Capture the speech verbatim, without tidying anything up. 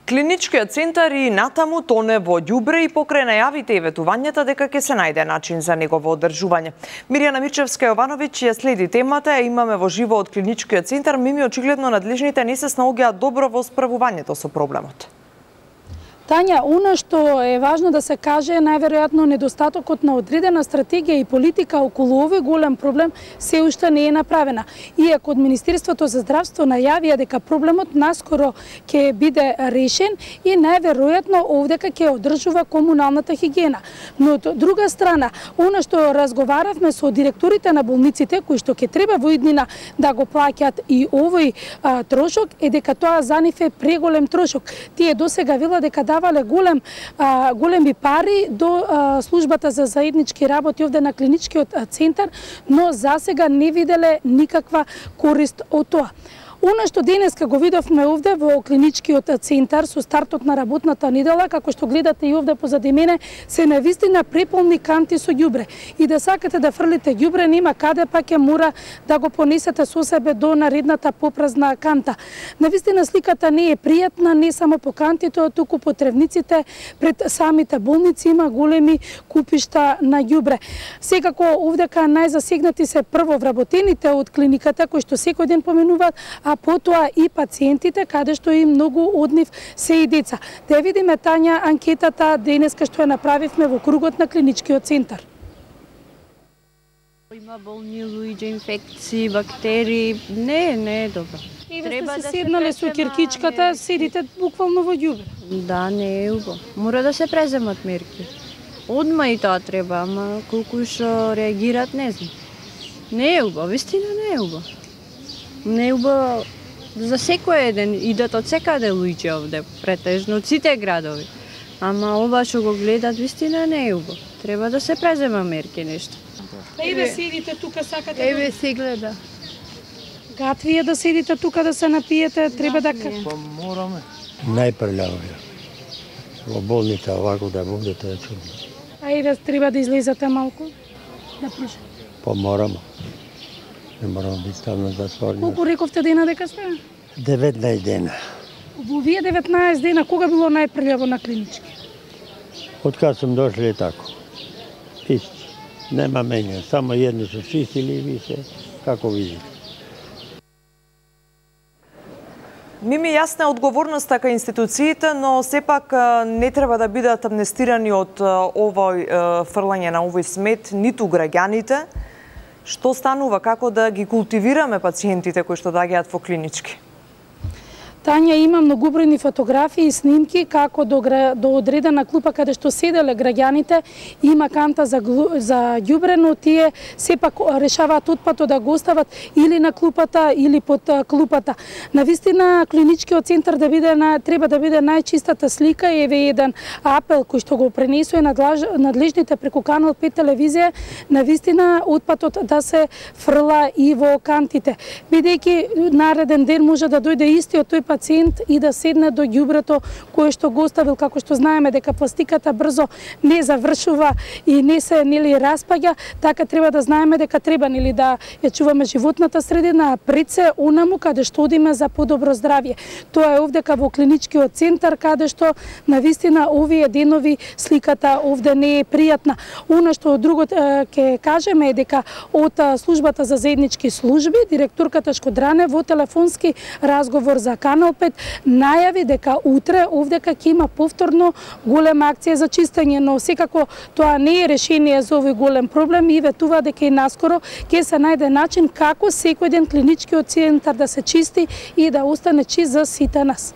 Клиничкиот центар и натаму тоне во ѓубре и покрај најавите и ветувањата дека ќе се најде начин за негово одржување. Мирјана Мирчевска-Јовановиќ ја следи темата, ја имаме во живо од Клиничкиот центар. Мими, очигледно надлежните не се снаоѓаат добро во справувањето со проблемот. Тања, она што е важно да се каже е најверојатно недостатокот на одредена стратегија и политика околу овој голем проблем се уште не е направена. Иако од Министерството за здравство најавија дека проблемот наскоро ќе биде решен и најверојатно овдека ќе одржува комуналната хигиена. Но од друга страна, она што разговаравме со директорите на болниците кои што ќе треба во иднина да го плаќаат и овој а, трошок е дека тоа за нив е преголем трошок. Тие досега велат дека давале голем, а, големи пари до а, службата за заеднички работи овде на Клиничкиот центар, но засега не виделе никаква корист од тоа. Она што денеска го видовме овде во Клиничкиот центар со стартот на работната недела, како што гледате и овде позади мене, се навистина преполни канти со ѓубре. И да сакате да фрлите ѓубре, нема каде, па ќе мора да го понесете со себе до наредната попразна канта. Навистина сликата не е пријатна, не само по кантите, туку по тревниците пред самите болници има големи купишта на ѓубре. Секако овдека најзасегнати се прво вработените од клиниката кои што секој ден поменуваат, а потоа и пациентите, каде што и многу од нив се и деца. Да видиме, Тања, анкетата денеска што ја направивме во кругот на Клиничкиот центар. Има болни луѓе, инфекции, бактерии. Не, не е добро. Треба да се седнале со киркичката, седите буквално во ѓубре. Да, не е убаво. Мора да се преземат мерки. Одма и тоа треба, ама колку што реагираат, не знам. Не е убаво, вистина не е убаво. Не е убаво за секој еден, идат од секаде луѓе овде, претежно од сите градови. Ама ова што го гледат, вистина не е убаво. Треба да се презема мерки нешто. Еве седите тука, сакате. Еве се гледа. Гатвие да седите тука да се напиете, треба да... Па мораме. Најпрљаво е. Во болница овако да будете е чудно. А и да треба да излезете малку, да прошете. Па мораме. Не морам да ставам да затворни. Колку рековте дена дека сте? деветнаесет дена. Во вие деветнаесет дена, кога било најпрљаво на Клинички? Од кога сум дошли е тако. Исти. Нема мене, само едно се чистили и ви се, како видите. Мими, јасна одговорноста кај институциите, но сепак не треба да бидат амнестирани од овој фрлање на овој смет ниту граѓаните. Што станува, како да ги култивираме пациентите кои што доаѓаат во Клинички? Тања, има многобројни фотографии и снимки како до, до одредена клупа каде што седеле граѓаните, има канта за, за ѓубре, но тие сепак решаваат отпадот да го остават или на клупата или под клупата. Навистина Клиничкиот центар да биде на, треба да биде најчистата слика и еве еден апел кој што го пренесува надлежните преку Канал пет телевизија, навистина отпадот да се фрла и во кантите. Бидејќи нареден ден може да дојде истиот тој пациент и да седне до ѓубрето кое што го оставил, како што знаеме дека пластиката брзо не завршува и не се нели распаѓа, така треба да знаеме дека треба нели да ја чуваме животната средина, а пред се онаму каде што одиме за подобро здравје. Тоа е овдека во Клиничкиот центар каде што навистина овие денови сликата овде не е пријатна. Она што друго ќе кажеме е дека од службата за заеднички служби директорката Шкодране во телефонски разговор за Канал пет најави дека утре овдека ќе има повторно голема акција за чистење, но секако тоа не е решение за овој голем проблем и ветува дека и наскоро ќе се најде начин како секој ден Клиничкиот центар да се чисти и да остане чист за сите нас.